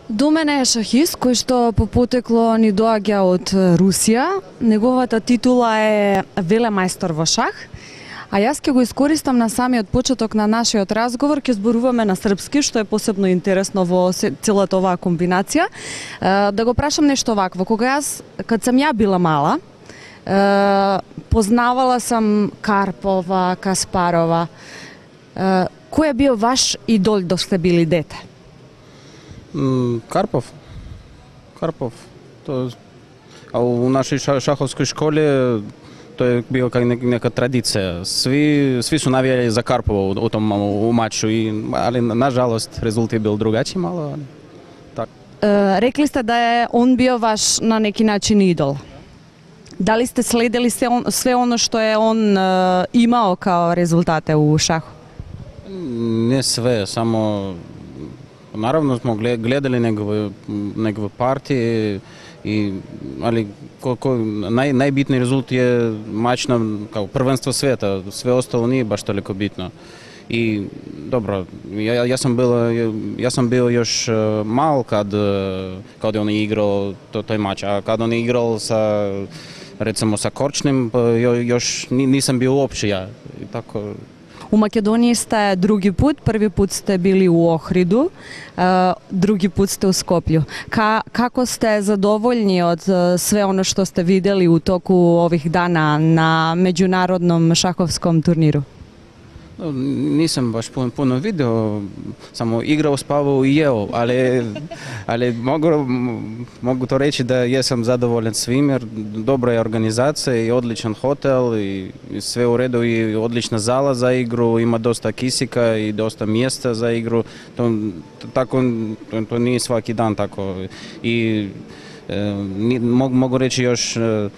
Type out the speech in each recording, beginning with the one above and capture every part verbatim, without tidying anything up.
До мене е шахист кој што по потекло ни доаѓа од Русија. Неговата титула е велемајстор во шах. А јас ќе го искористам на самиот почеток на нашиот разговор, ќе зборуваме на српски, што е посебно интересно во целата оваа комбинација. Да го прашам нешто вакво. Кога јас, кад сам ја била мала, познавала сам Карпова, Каспарова. Кој е бил ваш идол док сте били дете? Карпов. Карпов. То, а у нашей шаховской школе то е било как нека традиција. Сви сви су навијали за Карпова у том у матчу, и али нажалост резултат бил другачи мало. Так. Е, рекли сте да е он био ваш на неки начин идол. Дали сте следели се он, све оно што е он е, имао као резултате у шахот? Не све, само наравно смо гледали негови негови партии, и али кој нај најбитни резултат е мач на као првенство света, све остало не е баш толку битно. И добро, ја, јас сум бил јас сум бил још мал кад кад он играл то, тој мач, а кад он играл са рецимо са Корчним, још нисам бил уопште ја. И тако. У Македонија сте други пут, први пут сте били у Охриду, други пут сте у Скопју. Ка, како сте задоволни од све оно што сте видели у току ових дана на меѓународном шаховском турниру? Нисам баш пуно, пуно видео, само играл, спавал и јел, али, али могу, могу то речи да јесам задоволен свим, jer добра е организација и одличен хотел и, и све у реду, и одлична зала за игру, има доста кисика и доста места за игру. То, тако, то, то не е сваки дан тако. И е, могу, могу речи још е,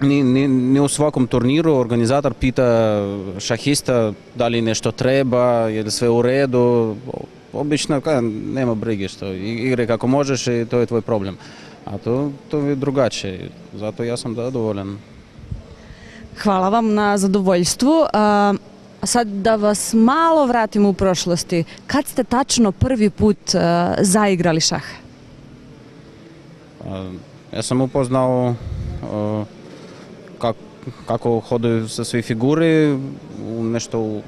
Не, не, не у сваком турниру организатор пита шахиста дали нешто треба, е ли све у реду. Обично ка, нема бриги што играј како можеш и тоа е твој проблем. А то то е другаче. Затоа јас сум задоволен. Хвала вам на задоволство. А, сад да вас мало вратим у прошлости. Кад сте тачно први пут а, заиграли шах? А, јас сум упознал а, Как, како ходив со свои фигури, нешто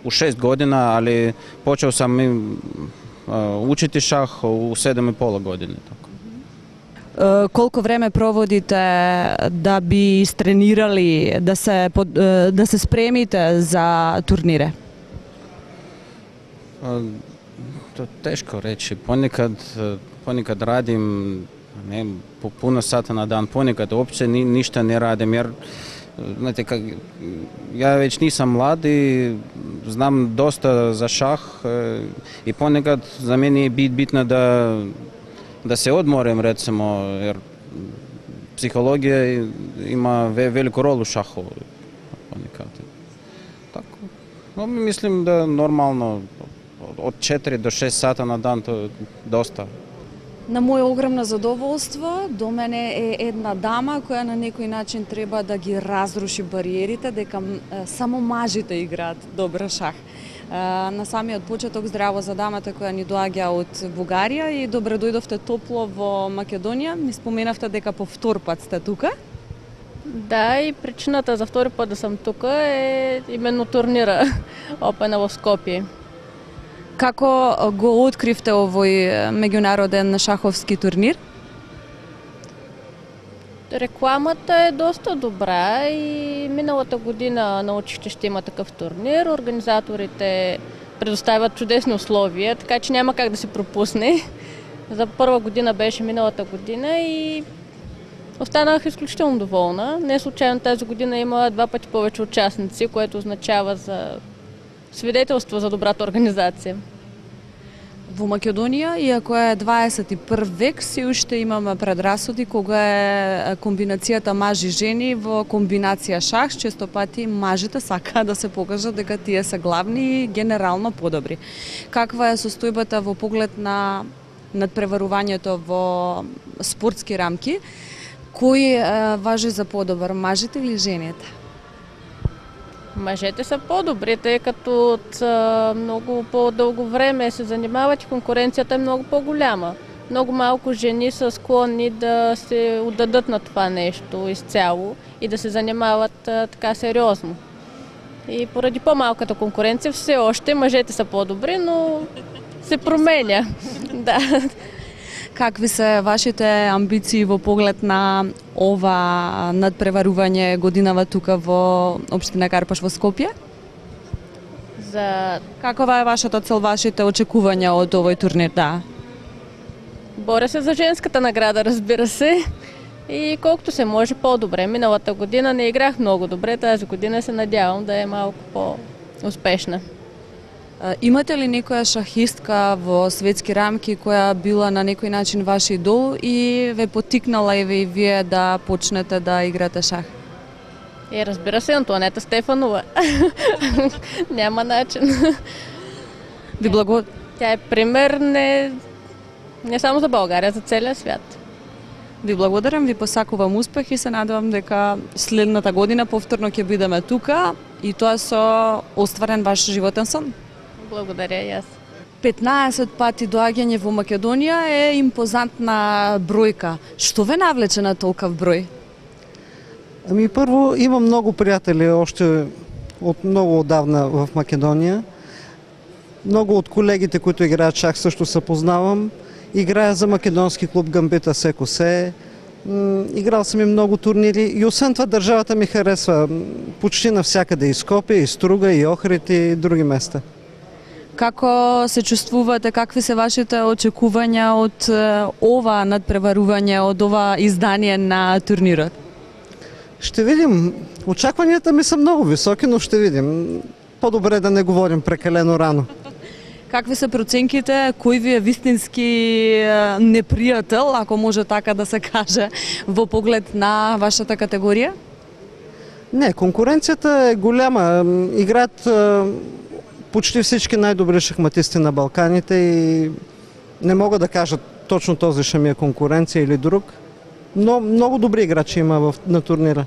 у шест година, али почел сам и учити шах у седем и пола години. Така. Колку време проводите да би истренирали, да се, да се спремите за турнире? То тешко речи. Понекад, понекад радим не, по пуно сата на дан, понекад опце ни, ништа не радим, jer знаете, как, ја веќе нисам млад и знам доста за шах, и понекад за мене е бит, битно да, да се одморим, рецимо, jer психологија има велику ролу шаху понекад. Тако. Но мислим да нормално од четири до шест сата на дан тоа доста. На моје огромно задоволство, до мене е една дама која на некој начин треба да ги разруши бариерите, дека само мажите играат добро шах. На самиот почеток здраво за дамата која ни доаѓа од Бугарија и добре дојдовте топло во Македонија. Ми споменавте дека по втор пат сте тука. Да, и причината за втори пат да сам тука е именно турнира Опена во Скопје. Како го откривте овој меѓународен шаховски турнир? Рекламата е доста добра и миналата година научих, че ще има такъв турнир. Организаторите предоставят чудесни условия, така че няма как да се пропусне. За първа година беше миналата година и останах изключително доволна. Не случайно тази година има два пъти повече участници, което означава за свидетелство за добрата организација. Во Македонија, иако е дваесет и први век, се уште имаме предрасуди кога е комбинацијата мажи-жени во комбинација шах, често пати мажите сакаат да се покажат дека тие се главни и генерално подобри. Каква е состојбата во поглед на надпреварувањето во спортски рамки? Кој е, важи за подобар, мажите или жените? Мъжете са по-добри, тъй като от а, много по-дълго време се занимават и конкуренцията е много по-голяма. Много малко жени са склонни да се отдадат на това нещо изцяло и да се занимават а, така сериозно. И поради по-малката конкуренция все още мъжете са по-добри, но се променя. Да. Какви се вашите амбиции во поглед на ова надпреварување годинава тука во општина Карпаш во Скопје? За... Какова е вашата цел, вашите очекувања од овој турнир? Да. Боря се за женската награда, разбира се. И колкото се може по-добре. Миналата година не играх много добре, тази година се надявам да е малко по-успешна. Имате ли некоја шахистка во светски рамки која била на некој начин ваш идол и ве потикнала и ве и вие да почнете да играте шах? Е, разбира се, Антоанета Стефанова. Няма начин. Ви благо... Тя е пример не, не само за България, за целия свят. Ви благодарам, ви посакувам успех и се надевам дека следната година повторно ќе бидеме тука и тоа со остварен ваш животен сон. Благодаря и аз. петнаесет пати доаѓање во Македонија е импозантна бројка. Што ве навлече на толков број? Ами първо имам много приятели още от много отдавна в Македония. Много от колегите, които играят шах, също се познавам. Играя за македонски клуб Гамбита Секосе. Играл съм и много турнири и освен това държавата ми харесва почти навсякъде, и Скопje, и Струга, и Охрид и други места. Како се чувствувате, какви се вашите очекувања од ова надпреварување, од ова издание на турнирот? Ще видим. Очакванията ми са много високи, но ще видим. По-добре да не говорим прекалено рано. Какви се проценките, кој ви е вистински непријател, ако може така да се каже, во поглед на вашата категорија? Не, конкуренцията е голяма. Играят почти всички най-добри шахматисти на Балканите и не мога да кажа точно този ще ми е конкуренция или друг, но много добри играчи има в, на турнира.